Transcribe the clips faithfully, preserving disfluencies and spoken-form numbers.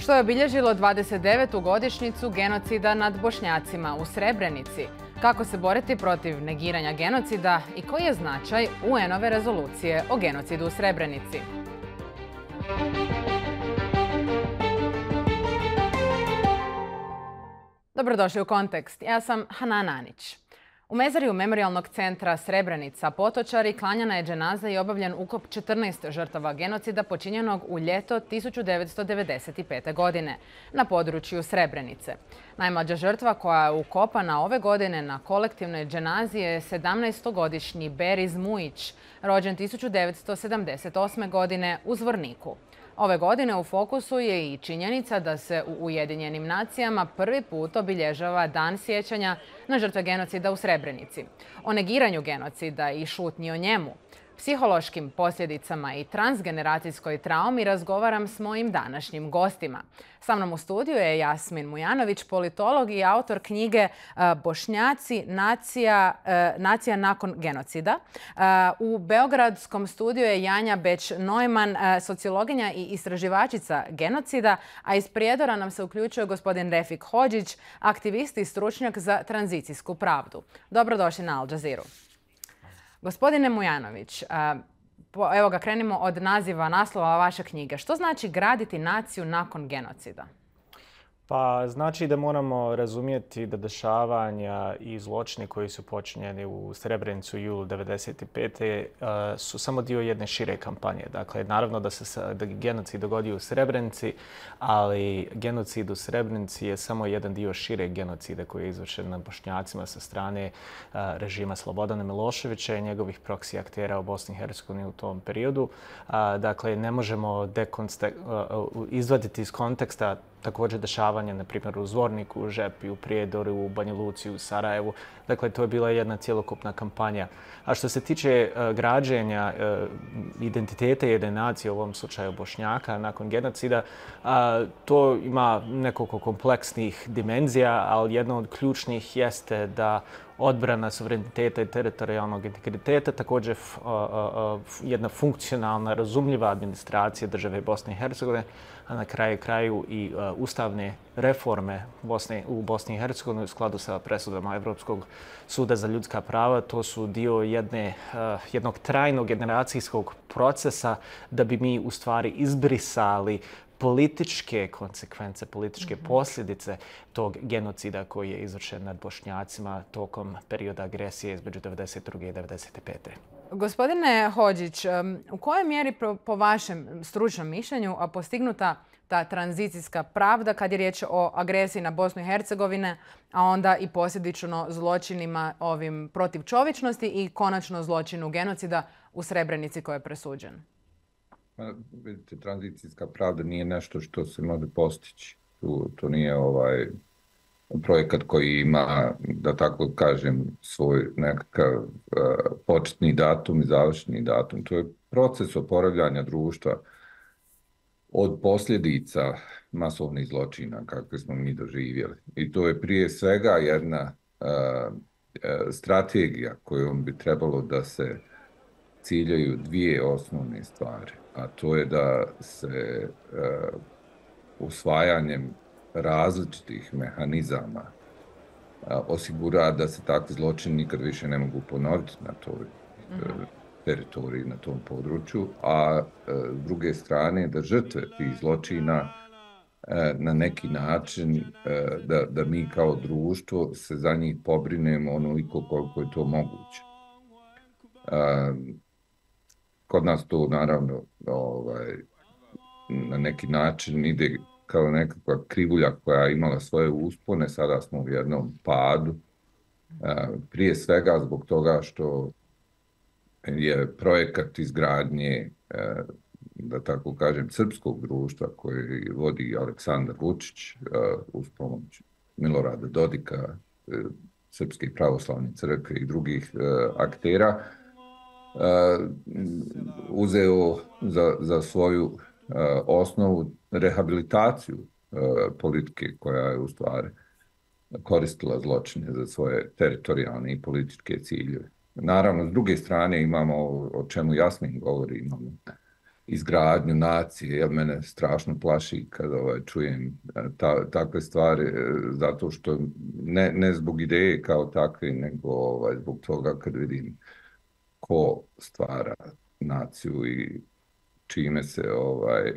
što je obilježilo dvadeset devetu godišnjicu genocida nad Bošnjacima u Srebrenici. Kako se boriti protiv negiranja genocida i koji je značaj U N-ove rezolucije o genocidu u Srebrenici? Dobrodošli u Kontekst. Ja sam Hanan Anić. U mezariju Memorijalnog centra Srebrenica Potočari klanjana je dženaza i obavljen ukop četrnaest žrtava genocida počinjenog u ljeto tisuću devetsto devedeset pete. godine na području Srebrenice. Najmlađa žrtva koja je ukopana ove godine na kolektivnoj dženazi je sedamnaestogodišnji Beriz Mujić, rođen tisuću devetsto sedamdeset osme. godine u Zvorniku. Ove godine u fokusu je i činjenica da se u Ujedinjenim nacijama prvi put obilježava Dan sjećanja na žrtve genocida u Srebrenici. O negiranju genocida i šutnji o njemu, psihološkim posljedicama i transgeneracijskoj traumi razgovaram s mojim današnjim gostima. Sa mnom u studiju je Jasmin Mujanović, politolog i autor knjige Bošnjaci, nacija, nacija nakon genocida. U beogradskom studiju je Janja Beć-Neumann, sociologinja i istraživačica genocida, a iz Prijedora nam se uključuje gospodin Refik Hodžić, aktivist i stručnjak za tranzicijsku pravdu. Dobrodošli na Al Jazeeru. Gospodine Mujanović, evo ga, krenimo od naziva naslova vaše knjige. Što znači graditi naciju nakon genocida? Pa znači da moramo razumjeti da dešavanja i zločini koji su počinjeni u Srebrenicu u julu devedeset pete. su samo dio jedne šire kampanje. Dakle, naravno da se da genocid dogodio u Srebrenici, ali genocid u Srebrenici je samo jedan dio šire genocida koji je izvršen nad Bošnjacima sa strane režima Slobodana Miloševića i njegovih proksi aktera u Bosni i Hercegovini u tom periodu. Dakle, ne možemo izvaditi iz konteksta također dešavanje, na primjer, u Zvorniku, u Žepi, u Prijedoru, u Banja Luci, u Sarajevu. Dakle, to je bila jedna cjelokupna kampanja. A što se tiče uh, građenja uh, identiteta jedne nacije, u ovom slučaju Bošnjaka, nakon genocida, uh, to ima nekoliko kompleksnih dimenzija, ali jedna od ključnih jeste da odbrana suvereniteta i teritorijalnog integriteta, također uh, uh, jedna funkcionalna, razumljiva administracija države Bosne i Hercegovine, a na kraju kraju i uh, ustavne reforme Bosne, u Bosni i Hercegovini u skladu sa presudama Evropskog suda za ljudska prava. To su dio jedne, uh, jednog trajnog generacijskog procesa da bi mi u stvari izbrisali političke konsekvence, političke posljedice tog genocida koji je izvršen nad Bošnjacima tokom perioda agresije između devedeset druge i devedeset pete. Gospodine Hodžić, u kojoj mjeri po vašem stručnom mišljenju postignuta ta tranzicijska pravda kad je riječ o agresiji na Bosnu i Hercegovine, a onda i posljedično zločinima ovim protiv čovječnosti i konačno zločinu genocida u Srebrenici koji je presuđen? Vidite, tranzicijska pravda nije nešto što se može postići. To, to nije ovaj projekat koji ima, da tako kažem, svoj nekakav uh, početni datum i završni datum. To je proces oporavljanja društva od posljedica masovnih zločina kakve smo mi doživjeli. I to je prije svega jedna uh, uh, strategija kojom bi trebalo da se ciljaju dvije osnovne stvari. A to je da se uh, usvajanjem različitih mehanizama uh, osigura da se takvi zločini nikad više ne mogu ponoviti na toj uh, teritoriji, na tom području, a uh, s druge strane da žrtve tih zločina uh, na neki način uh, da, da mi kao društvo se za njih pobrinemo onoliko koliko je to moguće. Uh, Kod nas to naravno ovaj, na neki način ide kao nekakva krivulja koja je imala svoje uspone, sada smo u jednom padu. Prije svega zbog toga što je projekat izgradnje, da tako kažem, srpskog društva koji vodi Aleksandar Vučić uz pomoć Milorada Dodika, Srpske pravoslavne crkve i drugih aktera, Uh, uzeo za, za svoju uh, osnovu rehabilitaciju uh, politike koja je u stvari koristila zločine za svoje teritorijalne i političke ciljeve. Naravno, s druge strane imamo, o čemu Jasmin govori, imamo izgradnju nacije, jer mene strašno plaši kad ovaj, čujem ta, takve stvari, zato što ne, ne zbog ideje kao takve, nego ovaj, zbog toga kad vidim ko stvara naciju i čime se, ovaj,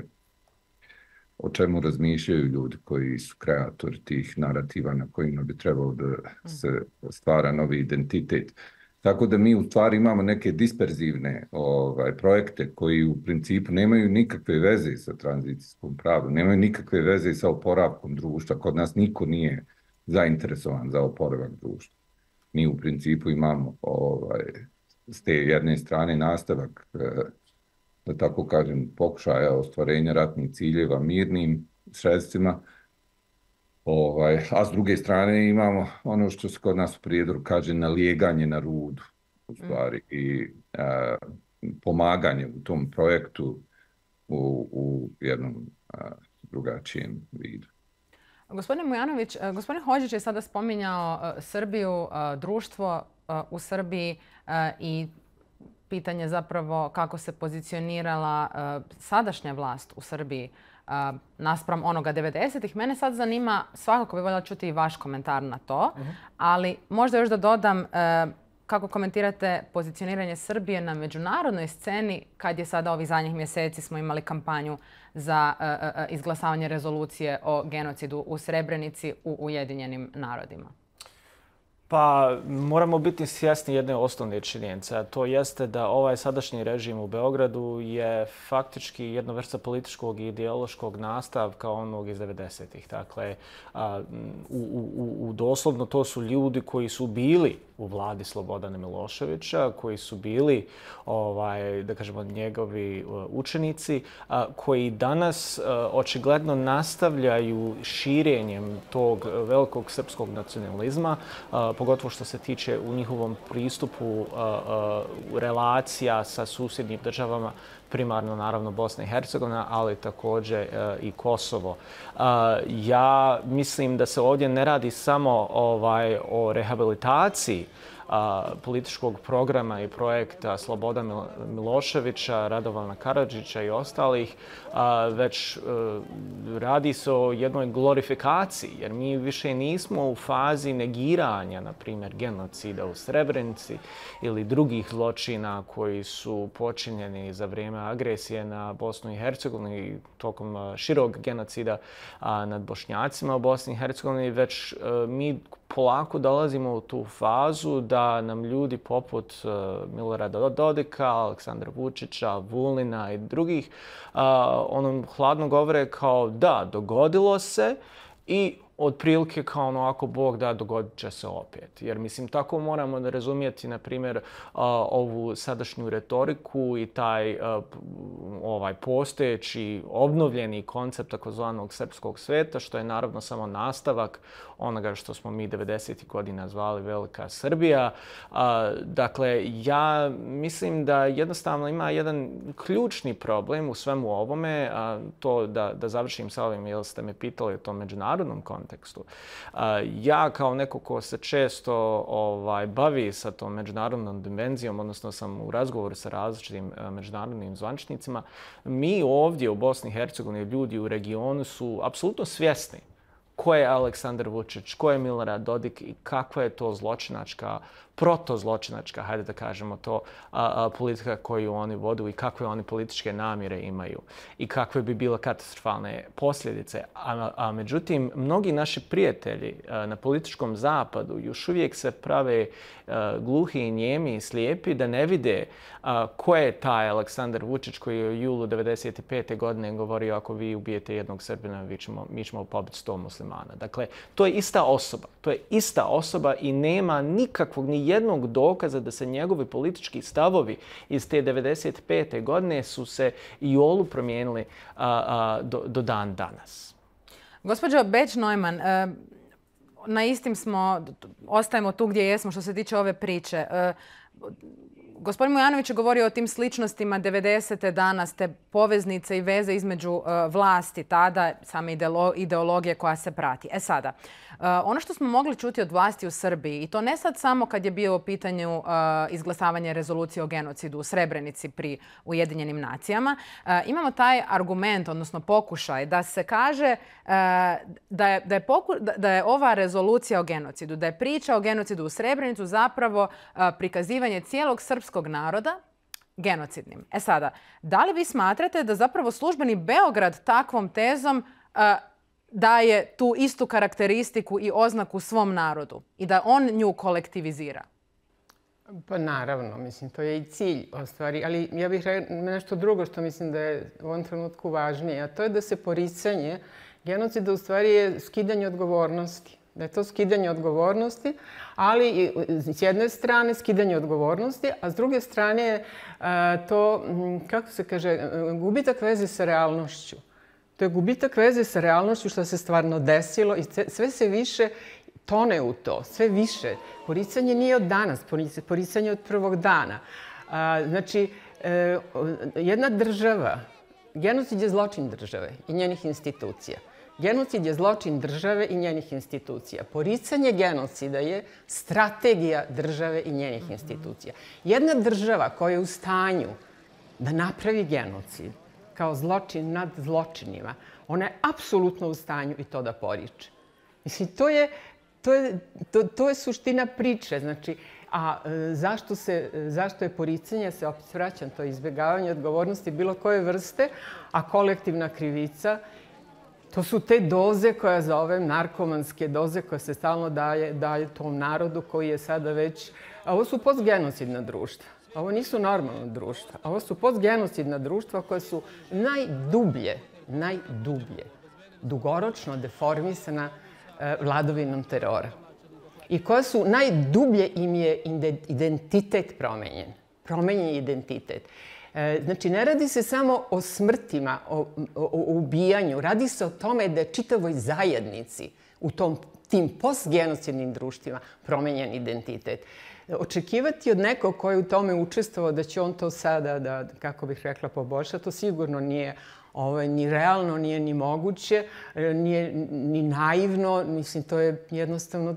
o čemu razmišljaju ljudi koji su kreatori tih narativa na kojima bi trebalo da se stvara novi identitet. Tako da mi u stvari imamo neke disperzivne ovaj, projekte koji u principu nemaju nikakve veze sa tranzicijskom pravdom, nemaju nikakve veze sa oporavkom društva. Kod nas niko nije zainteresovan za oporavak društva. Mi u principu imamo ovaj, s te jedne strane nastavak, da tako kažem, pokušaja ostvarenja ratnih ciljeva mirnim sredstvima, ovaj, a s druge strane imamo ono što se kod nas u prijedoru kaže nalijeganje na rudu, u stvari, i a, pomaganje u tom projektu u, u jednom a, drugačijem vidu. Gospodine Mujanović, gospodin Hodžić je sada spominjao Srbiju, društvo u Srbiji i pitanje zapravo kako se pozicionirala sadašnja vlast u Srbiji naspram onoga devedesetih. Mene sad zanima, svakako bi voljela čuti i vaš komentar na to, ali možda još da dodam kako komentirate pozicioniranje Srbije na međunarodnoj sceni kad je sada ovih zadnjih mjeseci smo imali kampanju za izglasavanje rezolucije o genocidu u Srebrenici u Ujedinjenim narodima? Pa moramo biti svjesni jedne osnovne činjenice, a to jeste da ovaj sadašnji režim u Beogradu je faktički jedna vrsta političkog i ideološkog nastavka onog iz devedesetih. Dakle, u, u, u doslovno to su ljudi koji su bili u vladi Slobodana Miloševića, koji su bili, ovaj, da kažemo, njegovi učenici, koji danas očigledno nastavljaju širenjem tog velikog srpskog nacionalizma, pogotovo što se tiče u njihovom pristupu relacija sa susjednim državama, primarno naravno Bosna i Hercegovina, ali također i Kosovo. Ja mislim da se ovdje ne radi samo ovaj, o rehabilitaciji političkog programa i projekta Slobodana Miloševića, Radovana Karadžića i ostalih, već radi se o jednoj glorifikaciji, jer mi više nismo u fazi negiranja, na primjer, genocida u Srebrenici ili drugih zločina koji su počinjeni za vrijeme agresije na Bosnu i Hercegovinu i tokom širog genocida nad Bošnjacima u Bosni i Hercegovini, već mi polako dolazimo u tu fazu da nam ljudi poput Milorada Dodika, Aleksandra Vučića, Vulina i drugih onom hladno govore kao da, dogodilo se i otprilike kao ono ako Bog da, dogodit će se opet. Jer mislim, tako moramo da razumijeti, na primjer, ovu sadašnju retoriku i taj ovaj postojeći obnovljeni koncept takozvanog srpskog sveta, što je naravno samo nastavak onoga što smo mi devedesetih godina zvali Velika Srbija. Dakle, ja mislim da jednostavno ima jedan ključni problem u svemu ovome, to da, da završim sa ovim, jer ste me pitali o tom međunarodnom kontekstu. Ja kao neko ko se često ovaj, bavi sa tom međunarodnom dimenzijom, odnosno sam u razgovoru sa različitim međunarodnim zvančnicima, mi ovdje u Bosni i Hercegovini, ljudi u regionu su apsolutno svjesni ko je Aleksandar Vučić, ko je Milorad Dodik i kakva je to zločinačka, protozločinačka, hajde da kažemo to, a, a, politika koju oni vodu i kakve oni političke namjere imaju i kakve bi bile katastrofalne posljedice. A, a međutim, mnogi naši prijatelji a, na političkom zapadu još uvijek se prave a, gluhi i njemi i slijepi da ne vide a, ko je taj Aleksandar Vučić koji je u julu devedeset pete godine govorio ako vi ubijete jednog Srbina, mi ćemo, mi ćemo pobiti sto muslimana. Dakle, to je ista osoba. To je ista osoba i nema nikakvog ni jednog dokaza da se njegovi politički stavovi iz te devedeset pete godine su se i olu promijenili a, a, do, do dan danas. Gospođo Beć-Neumann, na istim smo, ostajemo tu gdje jesmo što se tiče ove priče. Gospodin Mujanović je govorio o tim sličnostima devedesete danas, te poveznice i veze između uh, vlasti tada, same ideolo ideologije koja se prati. E sada, uh, ono što smo mogli čuti od vlasti u Srbiji, i to ne sad samo kad je bio u pitanju uh, izglasavanje rezolucije o genocidu u Srebrenici pri Ujedinjenim nacijama, uh, imamo taj argument, odnosno pokušaj da se kaže uh, da, je, da, je poku da, da je ova rezolucija o genocidu, da je priča o genocidu u Srebrenicu zapravo uh, prikazivanje cijelog srpskog naroda genocidnim. E sada, da li vi smatrate da zapravo službeni Beograd takvom tezom uh, daje tu istu karakteristiku i oznaku svom narodu i da on nju kolektivizira? Pa naravno, mislim, to je i cilj ostvari, ali ja bih rekla nešto drugo što mislim da je u ovom trenutku važnije, a to je da se poricanje genocida u stvari je skidanje odgovornosti. Da je to skidanje odgovornosti, ali s jedne strane skidanje odgovornosti, a s druge strane je to, kako se kaže, gubitak veze sa realnošću. To je gubitak veze sa realnošću što se stvarno desilo i sve se više tone u to, sve više. Poricanje nije od danas, poricanje je od prvog dana. Znači, jedna država, genocid je zločin države i njenih institucija. Genocid je zločin države i njenih institucija. Poricanje genocida je strategija države i njenih institucija. Jedna država koja je u stanju da napravi genocid kao zločin nad zločinima, ona je apsolutno u stanju i to da poriče. Mislim, to je, to je, to, to je suština priče. Znači, a zašto, se, zašto je poricanje, se opet vraćam, to je izbjegavanje odgovornosti bilo koje vrste, a kolektivna krivica, to su te doze koje zovem narkomanske doze koje se stalno daje, daje tom narodu koji je sada već... A ovo su postgenocidna društva. Ovo nisu normalna društva. Ovo su postgenocidna društva koje su najdublje, najdublje, dugoročno deformisana eh, vladavinom terora. I koje su najdublje im je identitet promenjen. Promenjen je identitet. Znači, ne radi se samo o smrtima, o, o, o ubijanju. Radi se o tome da je čitavoj zajednici u tom, tim postgenocidnim društvima promenjen identitet. Očekivati od nekog koji je u tome učestvovao da će on to sada, da, kako bih rekla, poboljša, to sigurno nije ovaj, ni realno, nije ni moguće, nije ni naivno. Mislim, to je jednostavno,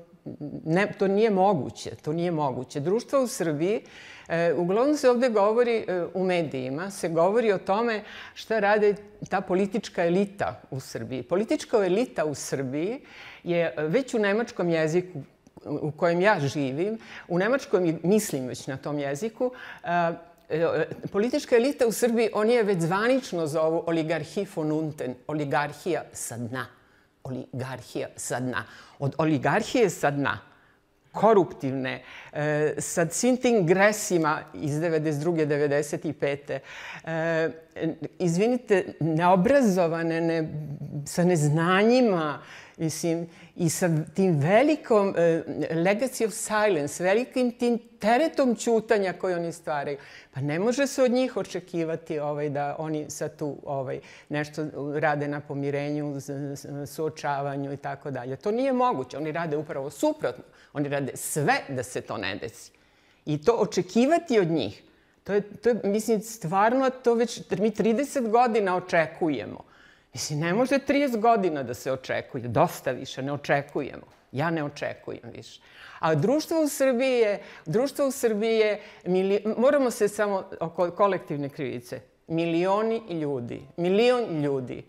ne, to nije moguće. To nije moguće. Društvo u Srbiji, E, uglavnom se ovdje govori e, u medijima, se govori o tome šta rade ta politička elita u Srbiji. Politička elita u Srbiji je već u nemačkom jeziku u kojem ja živim, u nemačkom mislim već na tom jeziku, e, e, politička elita u Srbiji, oni je već zvanično zovu oligarhie von unten, oligarhija sa dna. Oligarhija sa dna. Od oligarhije sa dna, koruptivne, e, sa svim tim gresima iz devedeset druge devedeset pete E, izvinite, neobrazovane, ne, sa neznanjima, mislim, i sa tim velikom e, legacy of silence, velikim tim teretom ćutanja koje oni stvaraju. Pa ne može se od njih očekivati ovaj, da oni sad tu ovaj, nešto rade na pomirenju, suočavanju i tako dalje. To nije moguće. Oni rade upravo suprotno. Oni rade sve da se to ne desi. I to očekivati od njih, to je, to je mislim, stvarno to već mi trideset godina očekujemo. Mislim, ne može trideset godina da se očekuje. Dosta više, ne očekujemo. Ja ne očekujem više. A društvo u Srbiji je, društvo u Srbiji je, mili, moramo se samo oko kolektivne krivice. Milioni ljudi, milion ljudi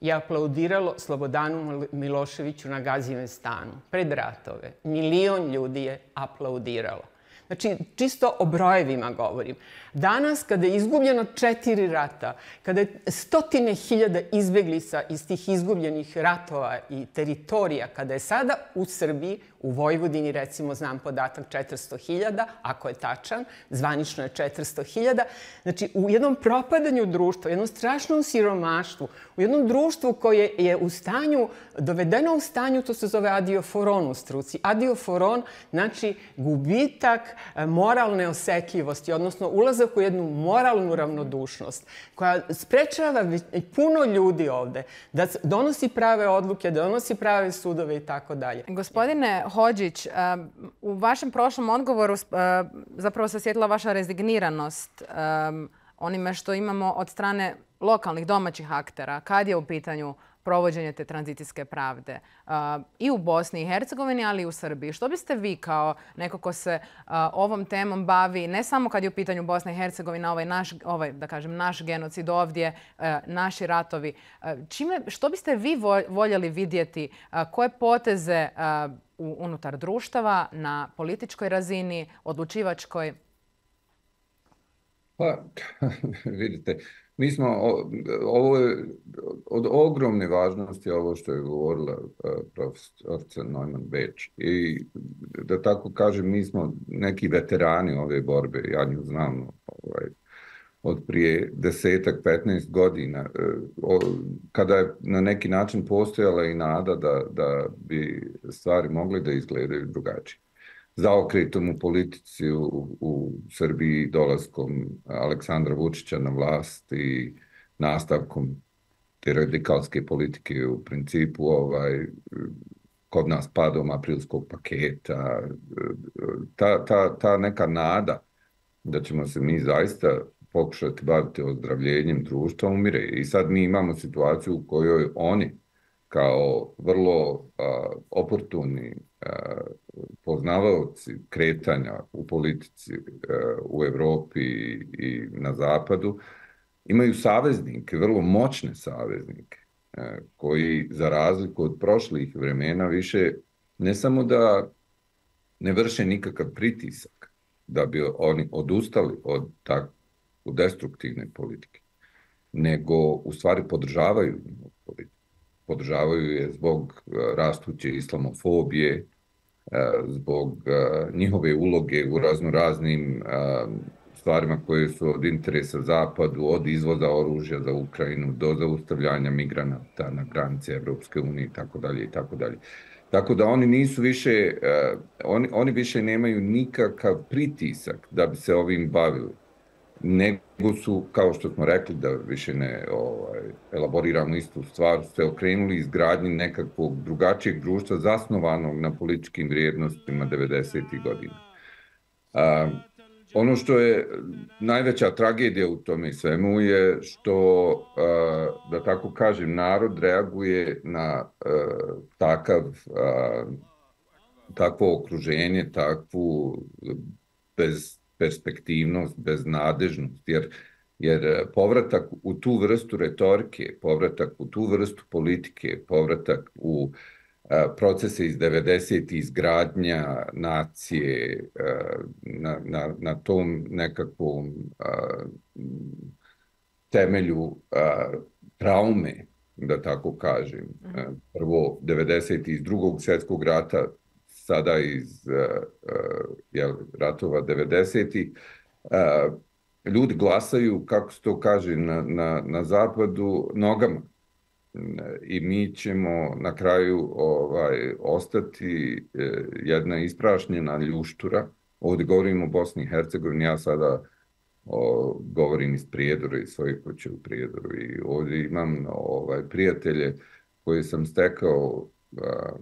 je aplaudiralo Slobodanu Miloševiću na Gazimestanu pred ratove. Milion ljudi je aplaudiralo. Znači, čisto o brojevima govorim. Danas, kada je izgubljeno četiri rata, kada je stotine hiljada izbjeglica iz tih izgubljenih ratova i teritorija, kada je sada u Srbiji, u Vojvodini, recimo, znam podatak četiristo hiljada, ako je tačan, zvanično je četiristo hiljada, znači, u jednom propadanju društva, u jednom strašnom siromaštvu, u jednom društvu koje je u stanju, dovedeno u stanju, to se zove adioforon u struci. Adioforon, znači, gubitak moralne osetljivosti, odnosno ulazak u jednu moralnu ravnodušnost koja sprečava puno ljudi ovde da donosi prave odluke, da donosi prave sudove i tako dalje. Gospodine Hodžić, u vašem prošlom odgovoru zapravo se osjetila vaša rezigniranost onime što imamo od strane lokalnih domaćih aktera kad je u pitanju provođenje te tranzicijske pravde i u Bosni i Hercegovini, ali i u Srbiji. Što biste vi kao neko ko se ovom temom bavi, ne samo kad je u pitanju Bosna i Hercegovina, ovaj naš, ovaj, da kažem, naš genocid ovdje, naši ratovi, čime, što biste vi voljeli vidjeti, koje poteze unutar društava na političkoj razini, odlučivačkoj? Pa, vidite, mi smo, ovo je od ogromne važnosti ovo što je govorila profesorica Neumann-Beč. I da tako kažem, mi smo neki veterani ove borbe, ja nju znam ovaj, od prije desetak, petnaest godina, kada je na neki način postojala i nada da, da bi stvari mogle da izgledaju drugačije. Zaokretom u politici u, u Srbiji, dolaskom Aleksandra Vučića na vlast i nastavkom te radikalske politike u principu ovaj, kod nas padom aprilskog paketa, ta, ta, ta neka nada da ćemo se mi zaista pokušati baviti ozdravljenjem društva umire. I sad mi imamo situaciju u kojoj oni kao vrlo a, oportuni a, poznavaoci kretanja u politici a, u Evropi i, i na zapadu imaju saveznike, vrlo moćne saveznike, a, koji za razliku od prošlih vremena više ne samo da ne vrše nikakav pritisak da bi oni odustali od takve destruktivne politike, nego u stvari podržavaju njihovu politiku. Podržavaju je zbog rastuće islamofobije, zbog njihove uloge u raznoraznim stvarima koje su od interesa Zapadu, od izvoza oružja za Ukrajinu do zaustavljanja migranata na granici Evropske unije i tako dalje i tako dalje. Tako da oni nisu više, oni, oni više nemaju nikakav pritisak da bi se ovim bavili. Nego su, kao što smo rekli, da više ne ovaj, elaboriramo istu stvar, se okrenuli izgradnji nekakvog drugačijeg društva zasnovanog na političkim vrijednostima devedesetih godina. A, ono što je najveća tragedija u tome svemu je što, a, da tako kažem, narod reaguje na a, takav, a, takvo okruženje, takvu bez perspektivnost, beznadežnost, jer, jer povratak u tu vrstu retorike, povratak u tu vrstu politike, povratak u a, procese iz devedesetih izgradnja nacije, a, na, na, na tom nekakvom a, temelju a, traume, da tako kažem. A, prvo devedesetih iz drugog svjetskog rata, sada iz uh, uh, jel, ratova devedesetih, uh, ljudi glasaju, kako se to kaže na, na, na zapadu, nogama. I mi ćemo na kraju ovaj, ostati uh, jedna isprašnjena ljuštura. Ovdje govorim o Bosni i Hercegovini, ja sada o, govorim iz Prijedora, iz svoje kuće u Prijedoru. I ovdje imam ovaj, prijatelje koje sam stekao uh,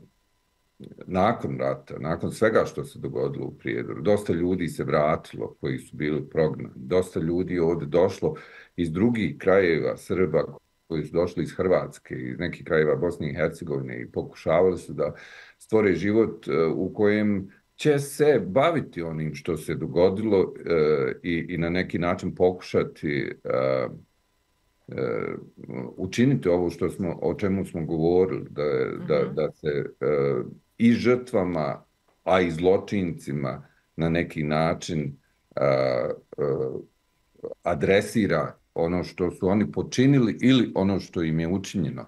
nakon rata, nakon svega što se dogodilo u Prijedoru. Dosta ljudi se vratilo koji su bili prognani. Dosta ljudi ovdje došlo iz drugih krajeva Srba koji su došli iz Hrvatske, iz nekih krajeva Bosne i Hercegovine i pokušavali su da stvore život u kojem će se baviti onim što se dogodilo i, i na neki način pokušati uh, uh, učiniti ovo što smo, o čemu smo govorili, da, mm-hmm. da, da se uh, i žrtvama, a i zločincima na neki način uh, uh, adresira ono što su oni počinili ili ono što im je učinjeno.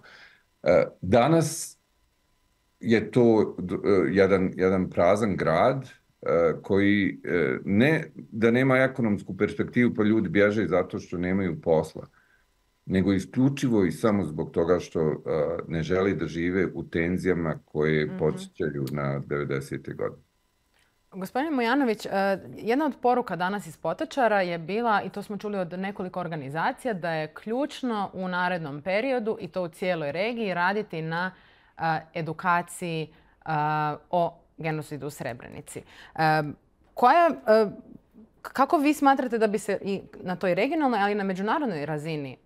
Uh, danas je to uh, jedan, jedan prazan grad uh, koji uh, ne da nema ekonomsku perspektivu pa ljudi bježe zato što nemaju posla, nego isključivo i samo zbog toga što uh, ne želi da žive u tenzijama koje mm-hmm. podsjećaju na devedesete godine. Gospodine Mujanović, jedna od poruka danas iz Potočara je bila, i to smo čuli od nekoliko organizacija, da je ključno u narednom periodu, i to u cijeloj regiji, raditi na edukaciji o genocidu u Srebrenici. Koja, kako vi smatrate da bi se i na toj regionalnoj, ali i na međunarodnoj razini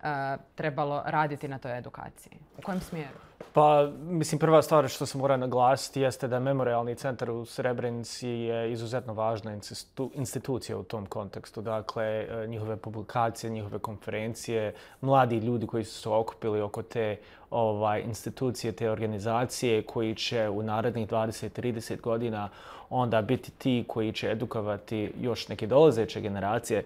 trebalo raditi na toj edukaciji? U kojem smjeru? Pa, mislim, prva stvar što se mora naglasiti jeste da Memorijalni centar u Srebrenici je izuzetno važna institucija u tom kontekstu. Dakle, njihove publikacije, njihove konferencije, mladi ljudi koji su se okupili oko te ovaj, institucije, te organizacije koji će u narednih dvadeset do trideset godina onda biti ti koji će edukovati još neke dolazeće generacije.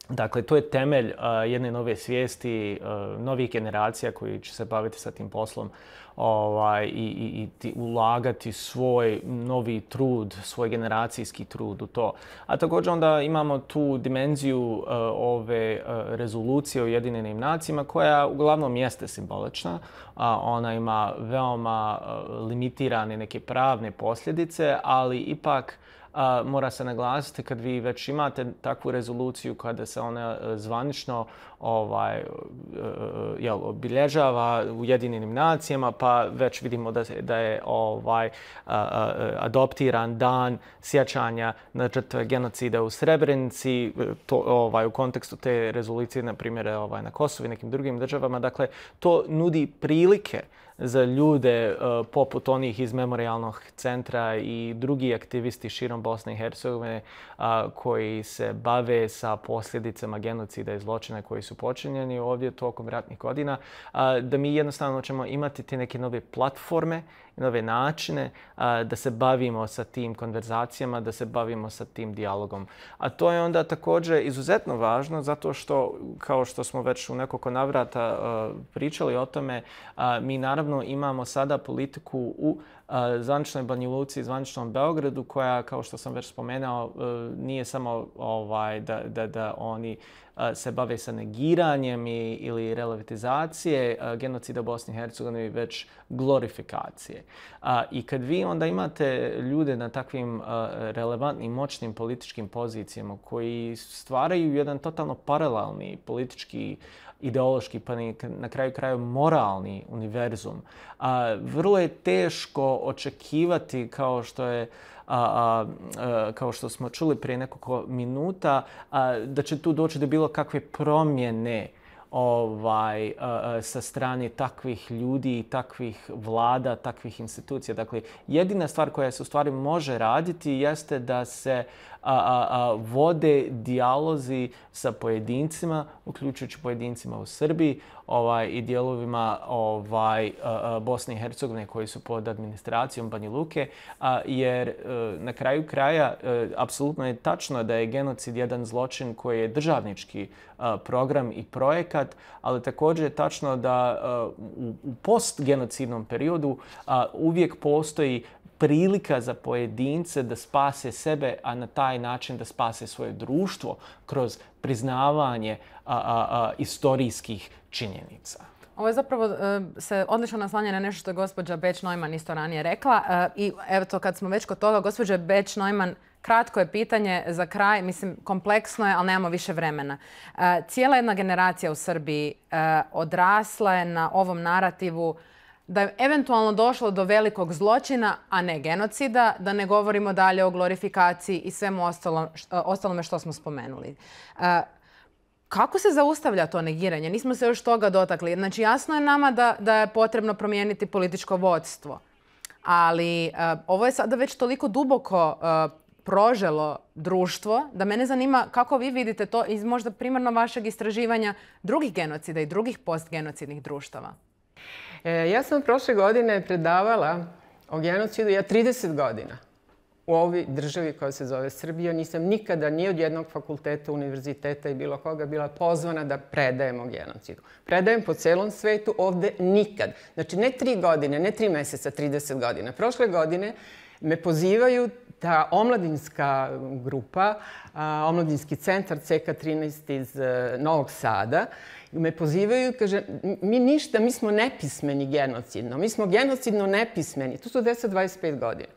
Dakle, to je temelj uh, jedne nove svijesti, uh, novih generacija koji će se baviti sa tim poslom ovaj, i, i, i ulagati svoj novi trud, svoj generacijski trud u to. A također onda imamo tu dimenziju uh, ove uh, rezolucije o Ujedinjenim nacijama koja uglavnom jeste simbolična. Uh, ona ima veoma uh, limitirane neke pravne posljedice, ali ipak Uh, mora se naglasiti kad vi već imate takvu rezoluciju kada se ona uh, zvanično ovaj, uh, jel, obilježava u Ujedinjenim nacijama, pa već vidimo da, da je ovaj, uh, uh, adoptiran dan sjećanja na žrtve genocida u Srebrenici, to, ovaj, u kontekstu te rezolucije, na primjer ovaj, na Kosovu i nekim drugim državama. Dakle, to nudi prilike za ljude uh, poput onih iz Memorijalnog centra i drugi aktivisti širom Bosne i Hercegovine uh, koji se bave sa posljedicama genocida i zločina koji su počinjeni ovdje tokom ratnih godina, uh, da mi jednostavno ćemo imati te neke nove platforme, nove načine uh, da se bavimo sa tim konverzacijama, da se bavimo sa tim dijalogom. A to je onda također izuzetno važno zato što, kao što smo već u nekoliko navrata uh, pričali o tome, uh, mi naravno imamo sada politiku u uh, zvaničnoj Banja Luci i zvaničnom Beogradu koja, kao što sam već spomenuo, uh, nije samo ovaj, da, da, da oni uh, se bave sa negiranjem i, ili relativizacije uh, genocida u Bosni i Hercegovini, već glorifikacije. Uh, I kad vi onda imate ljude na takvim uh, relevantnim, moćnim političkim pozicijama koji stvaraju jedan totalno paralelni politički ideološki, pa na kraju kraju moralni univerzum. A, vrlo je teško očekivati, kao što je a, a, a, kao što smo čuli prije nekoliko minuta, a, da će tu doći do bilo kakve promjene ovaj, a, a, sa strane takvih ljudi, takvih vlada, takvih institucija. Dakle, jedina stvar koja se u stvari može raditi jeste da se A, a, a, vode dijalozi sa pojedincima, uključujući pojedincima u Srbiji ovaj, i dijelovima ovaj, a, a, Bosne i Hercegovine koji su pod administracijom Banja Luke, a, jer a, na kraju kraja a, apsolutno je tačno da je genocid jedan zločin koji je državnički a, program i projekat, ali također je tačno da a, u, u postgenocidnom periodu a, uvijek postoji prilika za pojedince da spase sebe, a na taj način da spase svoje društvo kroz priznavanje a, a, a, istorijskih činjenica. Ovo je zapravo uh, se odlično naslanja na nešto što je gospođa Beć-Neumann isto ranije rekla. Uh, I evo to kad smo već kod toga, gospođa Beć-Neumann, kratko je pitanje za kraj, mislim kompleksno je, ali nemamo više vremena. Uh, cijela jedna generacija u Srbiji uh, odrasla je na ovom narativu da je eventualno došlo do velikog zločina, a ne genocida, da ne govorimo dalje o glorifikaciji i svemu ostalom, ostalome što smo spomenuli. Kako se zaustavlja to negiranje? Nismo se još toga dotakli. Znači, jasno je nama da, da je potrebno promijeniti političko vodstvo. Ali uh, ovo je sada već toliko duboko uh, proželo društvo da mene zanima kako vi vidite to iz možda primarno vašeg istraživanja drugih genocida i drugih postgenocidnih društava. E, ja sam prošle godine predavala o genocidu, ja trideset godina u ovoj državi koja se zove Srbija. Nisam nikada ni od jednog fakulteta, univerziteta i bilo koga bila pozvana da predajem o genocidu. Predajem po celom svetu, ovde nikad. Znači ne tri godine, ne tri meseca, trideset godina. Prošle godine me pozivaju ta omladinska grupa, a, omladinski centar C K trinaest iz a, Novog Sada, me pozivaju i kaže, mi ništa, mi smo nepismeni genocidno, mi smo genocidno nepismeni. To su deset do dvadeset pet godina.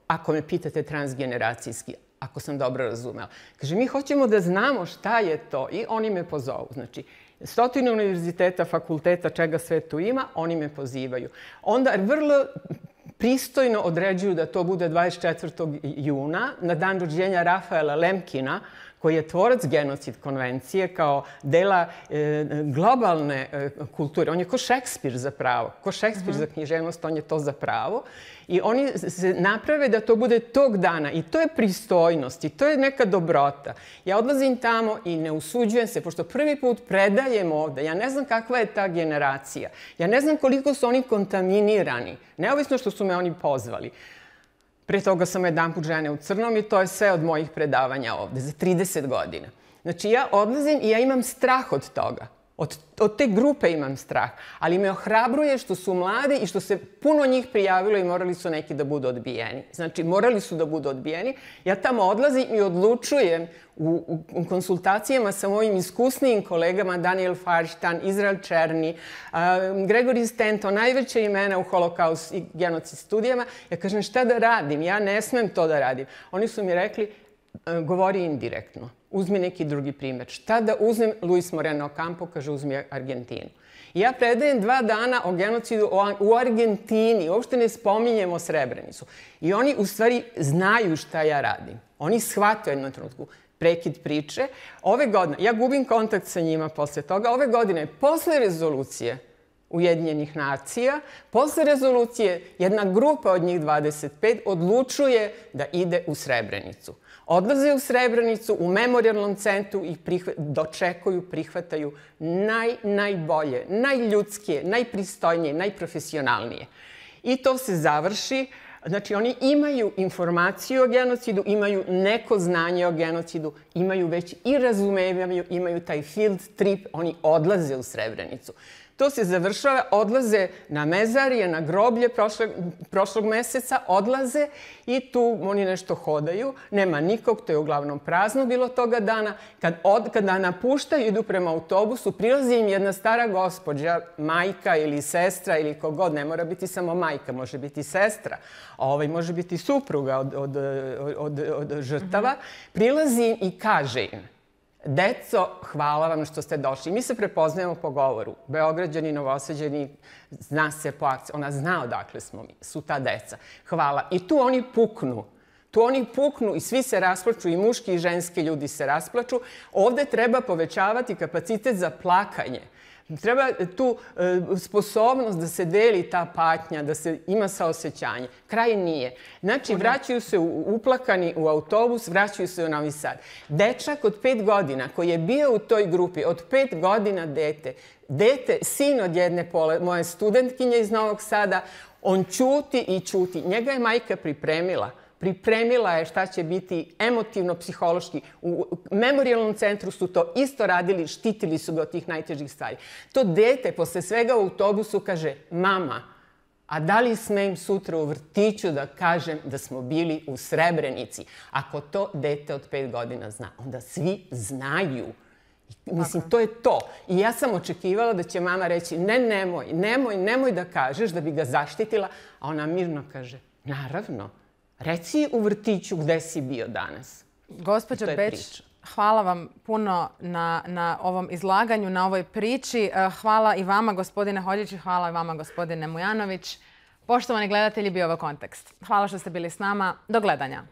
Ako me pitate transgeneracijski, ako sam dobro razumela. Kaže, mi hoćemo da znamo šta je to i oni me pozovu. Znači, stotine univerziteta, fakulteta, čega sve tu ima, oni me pozivaju. Onda vrlo pristojno određuju da to bude dvadeset četvrtog juna, na dan rođenja Rafaela Lemkina, koji je tvorac genocid konvencije kao dela e, globalne e, kulture. On je ko Šekspir zapravo, ko Šekspir uh-huh. za književnost, on je to zapravo. I oni se naprave da to bude tog dana i to je pristojnost i to je neka dobrota. Ja odlazim tamo i ne usuđujem se, pošto prvi put predajem ovde, ja ne znam kakva je ta generacija, ja ne znam koliko su oni kontaminirani, neovisno što su me oni pozvali. Pre toga sam jedanput Žene u crnom i to je sve od mojih predavanja ovde, za trideset godina. Znači ja odlazim i ja imam strah od toga. Od, od te grupe imam strah. Ali me ohrabruje što su mladi i što se puno njih prijavilo i morali su neki da budu odbijeni. Znači morali su da budu odbijeni. Ja tamo odlazim i odlučujem u, u, u konsultacijama sa mojim iskusnijim kolegama Daniel Farštan, Izrael Černi, uh, Gregory Stanton, najveće imena u holokaust i genocid studijama. Ja kažem šta da radim? Ja ne smem to da radim. Oni su mi rekli uh, govori indirektno. Uzmi neki drugi primjer. Šta da uzmem? Luis Moreno Ocampo kaže uzmi Argentinu. I ja predajem dva dana o genocidu u Argentini. Uopšte ne spominjemo Srebrenicu. I oni u stvari znaju šta ja radim. Oni shvataju jednom trenutku prekid priče. Ove godine, ja gubim kontakt sa njima posle toga. Ove godine, posle rezolucije Ujedinjenih nacija, posle rezolucije jedna grupa od njih dvadeset pet odlučuje da ide u Srebrenicu. Odlaze u Srebrenicu, u memorijalnom centru i prihva, dočekuju, prihvataju naj, najbolje, najljudskije, najpristojnije, najprofesionalnije. I to se završi. Znači, oni imaju informaciju o genocidu, imaju neko znanje o genocidu, imaju već i razumevaju, imaju taj field trip, oni odlaze u Srebrenicu. To se završava, odlaze na mezarije, na groblje prošlog, prošlog meseca, odlaze i tu oni nešto hodaju. Nema nikog, to je uglavnom prazno bilo toga dana. Kad od, kada napuštaju, idu prema autobusu, prilazi im jedna stara gospođa, majka ili sestra ili kogod, ne mora biti samo majka, može biti sestra, ovaj, može biti supruga od, od, od, od, od žrtava. Prilazi im i kaže im: deco, hvala vam što ste došli. Mi se prepoznajemo po govoru. Beograđani, Novosađani, zna se po akciji. Ona zna odakle smo mi. Su ta deca. Hvala. I tu oni puknu. Tu oni puknu i svi se rasplaču, i muški i ženski ljudi se rasplaču. Ovde treba povećavati kapacitet za plakanje. Treba tu e, sposobnost da se deli ta patnja, da se ima saosećanje. Kraj nije. Znači, vraćaju se u, uplakani u autobus, vraćaju se u Novi Sad. Dečak od pet godina koji je bio u toj grupi, od pet godina dete, dete, sin od jedne pole, moje studentkinje iz Novog Sada, on ćuti i ćuti. Njega je majka pripremila. Pripremila je šta će biti emotivno, psihološki. U memorijalnom centru su to isto radili, štitili su ga od tih najtežih stvari. To dete posle svega u autobusu kaže: mama, a da li smem sutra u vrtiću da kažem da smo bili u Srebrenici? Ako to dete od pet godina zna, onda svi znaju. Mislim, to je to. I ja sam očekivala da će mama reći: ne, nemoj, nemoj, nemoj da kažeš, da bi ga zaštitila. A ona mirno kaže: naravno. Reci u vrtiću gde si bio danas. Gospođo Beč, hvala vam puno na, na ovom izlaganju, na ovoj priči. Hvala i vama, gospodine Holjić, i hvala i vama, gospodine Mujanović. Poštovani gledatelji, bio ovo Kontekst. Hvala što ste bili s nama. Do gledanja.